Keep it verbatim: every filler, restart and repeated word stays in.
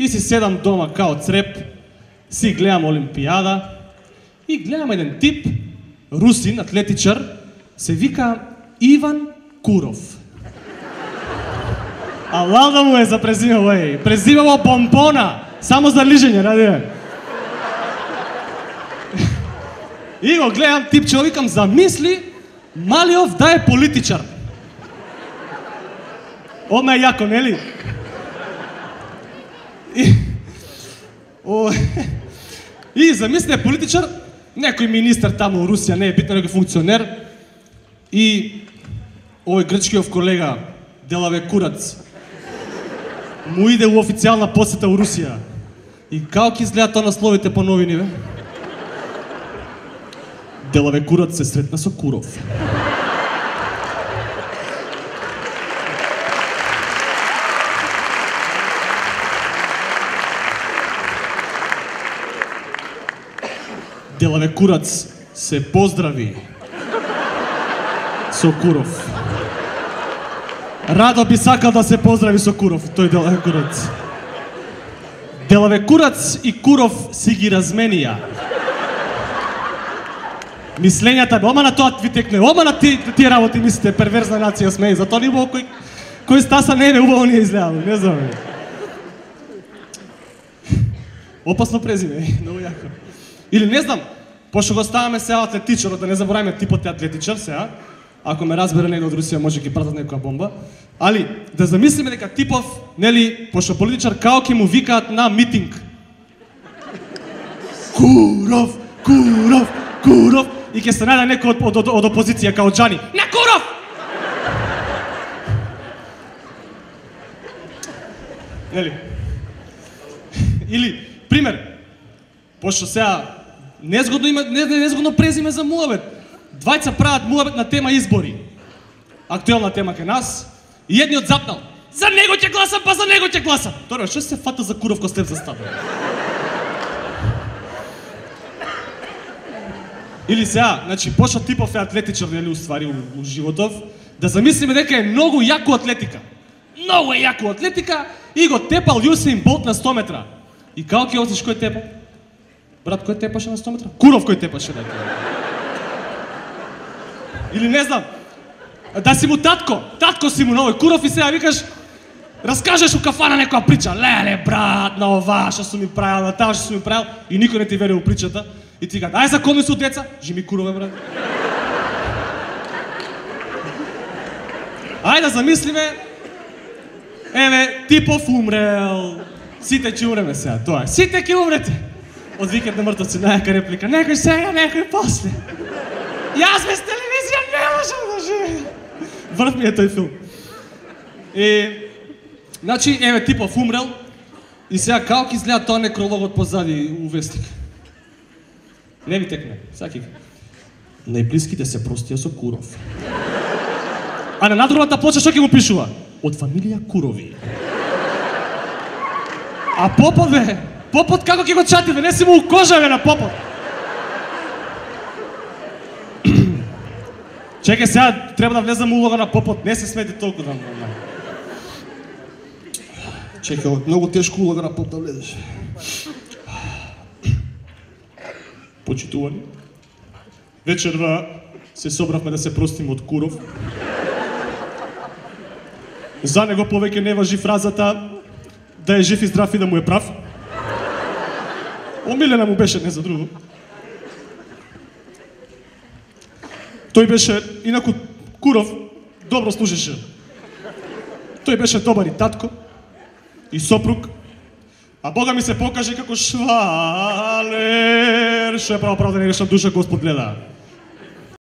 И си седам дома као цреп, си гледам Олимпијада и гледам еден тип, русин, атлетичар, се вика Иван Куров. А лалда му е за презимево, еј, презимево Бомбона, само за лижење, ради. И го гледам типче, викам, замисли Малиов да е политичар. Одма е јако, нели? И, о, и замисли е политичар, некој министар таму у Русија, не е битно, некој функционер, и овој грчкиов колега, Делаве Курац, му иде у официјална посета у Русија. И како ќе изгледа тоа насловите по новини, бе? Делаве Курац се сретна со Куров. Делаве Курац се поздрави со Куров. Радо би сакал да се поздрави со Куров, тој Делаве Курац. Делаве Курац и Куров си ги разменија мислењата, ома на тоа ви текне, ома на тие, тие работи мислите, перверзна нација сме, затоа ни убаво кој, кој стаса не е убаво ни е изгледало, не знам. Опасно презиме, многу јако. Или не знам, пошто го ставаме сега атлетичарот, да не забораваме типот е атлетичар сега, ако ме разбере некој од Русија може ќе пратат некоја бомба, али да замислиме дека типов, нели, пошто политичар као ќе му викаат на митинг. Куров, Куров, Куров, и ќе се најде некој од, од, од опозиција као Џани. На Куров! Нели? Или, пример, пошто сега незгодно има, не, незгодно презиме за муабет. Двајца прават муабет на тема избори. Актуелна тема кај нас. И едниот запнал. За него ќе гласам, па за него ќе гласам. Тоа што се фата за Куров ко слеп за стабил? Или сега, значи, пошто типов е атлетичар, нели, уствари у, у животов, да замислиме дека е многу јако атлетика. Многу е јако атлетика и го тепал Јусеин Болт на сто метра. И како ќе осиш кој тепа? Брат, кој тепаше на сто метра? Куров кој тепаше на тоа. Или не знам, да си му татко, татко си му на овој Куров и сега викаш, раскажеш у кафана некоја прича, леле брат, на ова што сум ми правил, на таа што сум ми правил, и никој не ти верува у причата, и ти кажа, ај закони су деца, жими Курове брат. Ајде да замислиме, еве, типов умрел, сите ќе умреме сега, тоа е, сите ќе умрете. Од викенд на мртвци, најака реплика, некој сега, некој после. Јас без телевизија не можам да живеам. Врв ми е тој филм. И, значи, еве, типов умрел, и сега како ќе изгледа тоа некрологот позади у вестник. Не ви текне, саки. Најблиските се простија со Куров. А на надругата плоча што ќе му пишува? Од фамилија Курови. А попот, бе, попот како ќе го чати, бе, не си му у кожа, бе, на попот. Чекај, сега треба да влезам улога на попот, не се смети толку да... Чекај, многу тешко улога на поп да влезеш. Почитувани, вечерва се собравме да се простиме од Куров. За него повеќе не важи фразата да е жив и здрав и да му е прав. Омилена му беше, не за друго. Тој беше, инаку Куров добро служеше. Тој беше добар и татко, и сопруг, а Бога ми се покаже како швалер, што е право правда негашна душа Господ гледа.